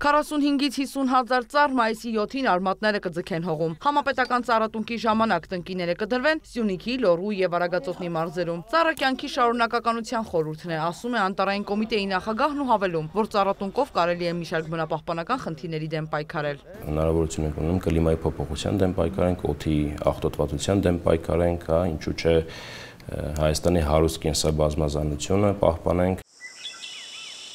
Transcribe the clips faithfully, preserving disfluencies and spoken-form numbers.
քառասունհինգից հիսուն հազար ծառ մայիսի յոթին արմատները կձգեն հողում։ Համապետական ծառատունկի ժամանակ տնկիները կդրվեն Սյունիքի, Լոռու եւ Արագածոտնի մարզերում։ Ծառը կյանքի շարունակականության խորհուրդն է, ասում է անտարային կոմիտեի նախագահն ու հավելում, որ ծառատունկով կարելի է մի շարք բնապահպանական խնդիրների դեմ պայքարել։ Հնարավորություն ենք ունենում կլիմայի փոփոխության դեմ պայքարենք, օդի աղտոտվածության դեմ պայքարենք, հա, ինչու՞ չէ Հայաստանի հարուստ կենսաբազմազանությունը պահպանենք։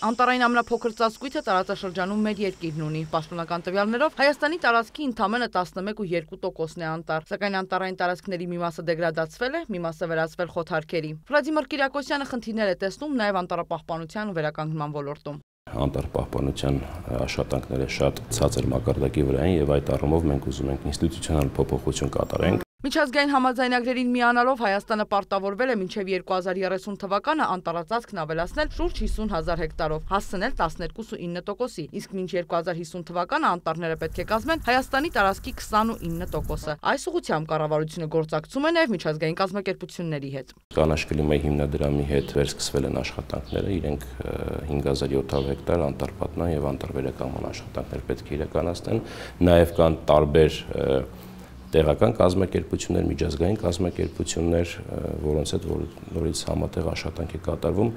Անտարային ամենափոքր ծածկույթը տարածաշրջանում մեր երկիրն ունի։ Պաշտոնական տվյալներով Հայաստանի տարածքի ընդամենը տասնմեկ ու երկու տոկոսն է անտառ, սակայն անտառային տարածքների մի մասը դեգրադացվել է, մի մասը վերածվել խոթարքերի։ Վլադիմիր Կիրակոսյանը խնդիրներ է տեսնում նաև անտառապահպանության ու վերականգնման ոլորտում։ Անտառապահպանության աշխատանքները շատ ցածր մակարդակի վրա են եւ այդ առումով մենք ուզում ենք ինստիտուցիոնալ փոփոխություն կատարենք։ Միջազգային համաձայնագրերին միանալով Հայաստանը պարտավորվել է մինչև երկու հազար երեսուն թվականը անտառածածկն ավելացնել շուրջ հիսուն հազար հեկտարով, հասցնել տասներկու տոկոսի, իսկ մինչ երկու հազար հիսուն թվականը անտառները պետք է կազմեն Հայաստանի տարածքի քսանուինը տոկոսը։ Այս ուղղությամբ կառավարությունը գործակցում է նաև միջազգային կազմակերպությունների հետ։ Կանաչ կլիմայի հիմնադրամի հետ վերսկսվել են աշխատանքները, իրենք հինգ հազար յոթ հարյուր հեկտար անտառպատնան եւ անտառվերականգնման աշխատանքներ պետք է իրականացնեն, նաև կան տարբեր տեղական կազմակերպություններ, միջազգային կազմակերպություններ, որոնց հետ նորից համատեղ աշխատանք է կատարվում։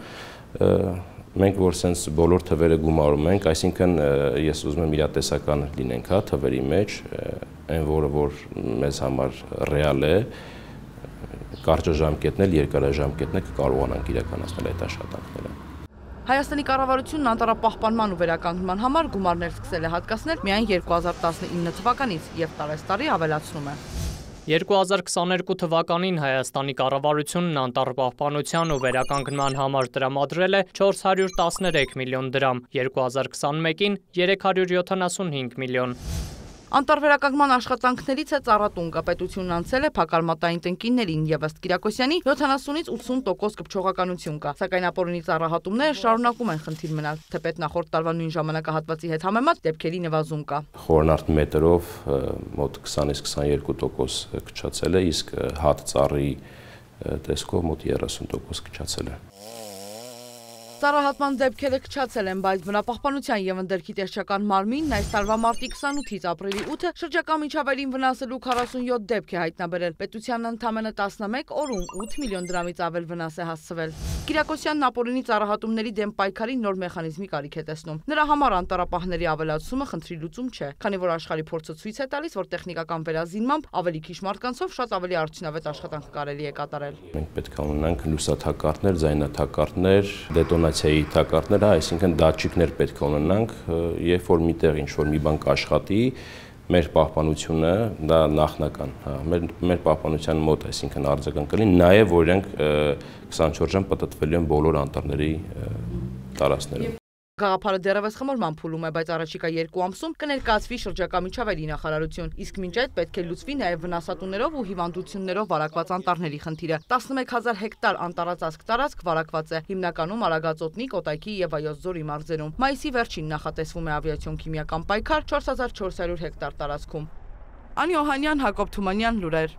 Մենք որ սենց բոլոր թվերը գումարում ենք, այսինքն ես ուզում եմ իրատեսական լինենք, հա, թվերի մեջ, այն որը որ մեզ համար ռեալ է, կարճաժամկետն էլ, երկարաժամկետն էլ կարողանանք իրականացնել այդ աշխատանքները։ Հայաստանի կառավարությունն անտառապահպանման ու վերականգնման համար գումարներ սկսել է հատկացնել միայն երկու հազար տասնինը թվականից եւ տարեստարի ավելացնում է։ երկու հազար քսաներկու թվականին Հայաստանի կառավարությունն անտառապահպանության ու վերականգնման համար տրամադրել է չորս հարյուր տասներեք միլիոն դրամ, երկու հազար քսանմեկին երեք հարյուր յոթանասունհինգ միլիոն։ Անտառվերականգնման աշխատանքներից է ծառատունկը, պետությունն անցել է փակարմատային տնկիներին եւ ըստ Կիրակոսյանի յոթանասունից ութսուն տոկոս կպչողականություն կա, սակայն ապօրինի ծառահատումները շարունակում են խնդիր մնալ, թեպետ նախորդ տարվա նույն ժամանակահատվածի հետ համեմատ դեպքերի նվազում կա։ Խորնարդ մետրով մոտ քսանից քսաներկու տոկոս կչացել է, իսկ հատ ծառի տեսքով մոտ երեսուն տոկոս կչացել է։ Ծառահատման դեպքերը կչացել են, բայց բնապահպանության եւ ընդերքի տեսչական մարմինն այս տարվա մարտի քսանութից ապրիլի ութը շրջակա միջավայրին վնասելու քառասունյոթ դեպք է հայտնաբերել։ Պետությանն ընդամենը տասնմեկ օրում ութ միլիոն դրամից ավել վնաս է հասցվել։ Կիրակոսյանն ապօրինի ծառահատումների դեմ պայքարի նոր մեխանիզմի կարիք է տեսնում։ Նրա համար անտառապահների ավելացումը խնդրի լուծում չէ, քանի որ աշխարհի փորձը ցույց է տալիս, որ տեխնիկական վերազինմամբ ավելի քիչ մարդկանցով շատ ավելի արդյունավետ աշխատանք կարելի է կատարել։ Մենք պետք է ունենանք լուսաթակարդներ, ձայնաթակարդներ, դետոնացիայի թակարդներ, այսինքն դատչիկներ պետք է ունենանք, երբ որ միտեղ ինչ-որ մի բան կաշխատի, մեր պահպանությունը դա նախնական, հա, մեր, մեր պահպանության մոտ, այսինքն արձագանք կլինի, նաև որ իրենք քսանչորս ժամ պտտվելու են բոլոր անտառների տարածքներում։ Գաղափարը դեռևս խմորման փուլում է, բայց առաջիկա երկու ամսում կներկայացվի շրջակա միջավայրի նախարարություն, իսկ մինչ այդ պետք է լուծվի նաև վնասատուներով ու հիվանդություններով վարակված անտառների խնդիրը։ տասնմեկ հազար հեկտար անտառածածկ տարածք վարակված է, հիմնականում Արագածոտնի, Կոտայքի եւ Վայոց ձորի մարզերում։ Մայիսի վերջին նախատեսվում է ավիացիոն քիմիական պայքար չորս հազար չորս հարյուր հեկտար տարածքում։ Անի Օհանյան, Հակոբ Թումանյան, լուրեր։